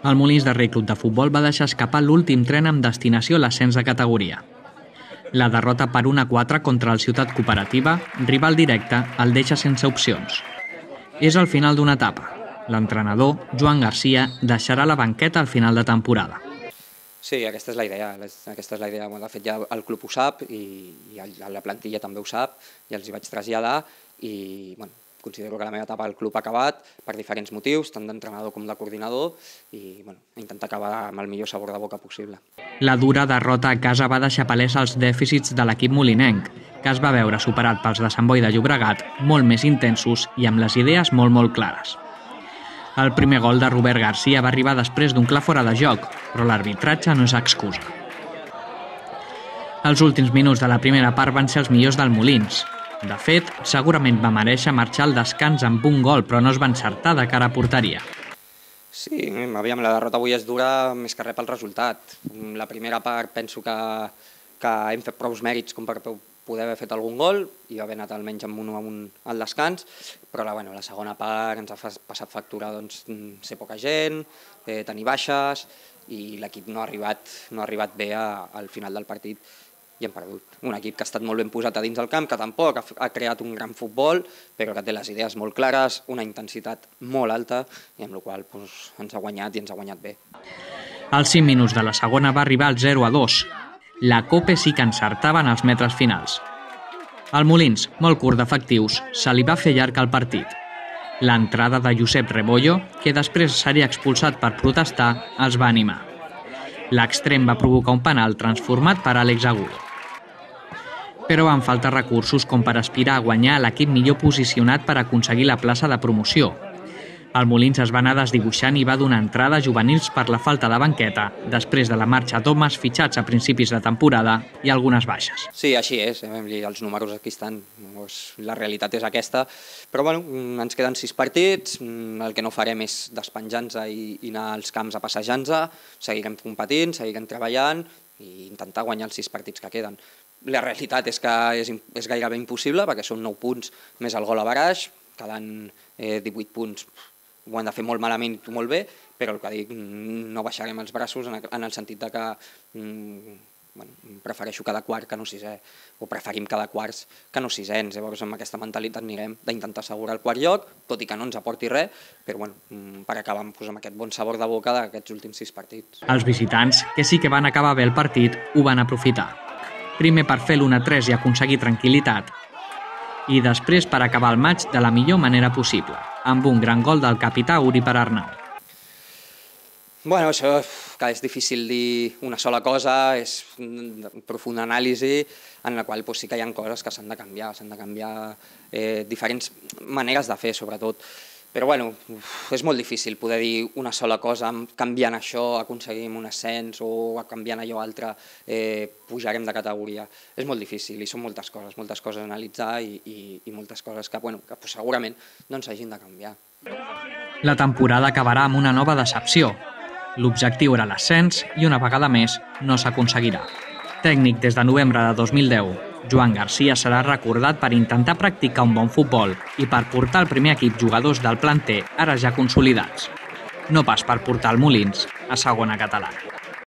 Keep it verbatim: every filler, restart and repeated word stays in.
El Molins de Rei Club de Futbol va deixar escapar l'últim tren amb destinació a l'ascens de categoria. La derrota per un a quatre contra el Ciutat Cooperativa, rival directe, el deixa sense opcions. És el final d'una etapa. L'entrenador, Joan Garcia, deixarà la banqueta al final de temporada. Sí, aquesta és la idea. Aquesta és la idea. De fet, ja el club ho sap i la plantilla també ho sap i els hi vaig traslladar i bueno, considero que la meva etapa al club ha acabat per diferents motius, tant d'entrenador com de coordinador, i bueno, intentar acabar amb el millor sabor de boca possible. La dura derrota a casa va deixar palès els dèficits de l'equip molinenc, que es va veure superat pels de Sant Boi de Llobregat, molt més intensos i amb les idees molt molt clares. El primer gol de Robert Garcia va arribar després d'un clar fora de joc, però l'arbitratge no és excusa. Els últims minuts de la primera part van ser els millors del Molins. De fet, segurament va mereixer marxar al descans amb un gol, però no es va encertar de cara a porteria. Sí, aviam, la derrota avui és dura més que res pel resultat. La primera part penso que, que hem fet prou mèrits com per poder haver fet algun gol i haver anat almenys amb un a un al descans, però la, bueno, la segona part ens ha passat factura doncs, ser poca gent, eh, tenir baixes i l'equip no ha arribat, no ha arribat bé a, al final del partit i hem perdut. Un equip que ha estat molt ben posat a dins del camp, que tampoc ha, ha creat un gran futbol, però que té les idees molt clares, una intensitat molt alta i amb la qual cosa doncs, ens ha guanyat i ens ha guanyat bé. Als cinc minuts de la segona va arribar el zero a dos. La Cope sí que encertava en els metres finals. Al Molins, molt curt d'efectius, se li va fer llarg el partit. L'entrada de Josep Rebollo, que després seria expulsat per protestar, els va animar. L'extrem va provocar un penal transformat per Àlex Agudo. Però van faltar recursos com per aspirar a guanyar l'equip millor posicionat per aconseguir la plaça de promoció. El Molins es va anar desdibuixant i va donar entrada a juvenils per la falta de banqueta, després de la marxa d'homes fitxats a principis de temporada i algunes baixes. Sí, així és, els números aquí estan, la realitat és aquesta, però bueno, ens queden sis partits, el que no farem és despenjar-nos i anar als camps a passejar-nos, seguirem competint, seguirem treballant i intentar guanyar els sis partits que queden. La realitat és que és, és gairebé impossible perquè són nou punts més el gol a baraix, quedant eh, divuit punts. Ho hem de fer molt malament i molt bé, però el que dic, no baixarem els braços en el sentit de que mm, bueno, prefereixo cada quart que no sisè, o preferim cada quarts que no sisens. Llavors amb aquesta mentalitat anirem d'intentar assegurar el quart lloc, tot i que no ens aporti res, però bueno, per acabar amb, doncs, amb aquest bon sabor de boca d'aquests últims sis partits. Els visitants, que sí que van acabar bé el partit, ho van aprofitar. Primer per fer l'u a tres i aconseguir tranquil·litat, i després per acabar el maig de la millor manera possible, amb un gran gol del capità Uri per Arnau. Bueno, això que és difícil dir una sola cosa, és una profunda anàlisi en la qual doncs, sí que hi ha coses que s'han de canviar, s'han de canviar eh, diferents maneres de fer, sobretot. Però bueno, és molt difícil poder dir una sola cosa, canviant això aconseguim un ascens o canviant allò altre eh, pujarem de categoria. És molt difícil i són moltes coses, moltes coses a analitzar i, i, i moltes coses que, bueno, que pues, segurament no ens hagin de canviar. La temporada acabarà amb una nova decepció. L'objectiu era l'ascens i una vegada més no s'aconseguirà. Tècnic des de novembre de dos mil deu, Joan Garcia serà recordat per intentar practicar un bon futbol i per portar al primer equip jugadors del planter ara ja consolidats. No pas per portar el Molins a segona catalana.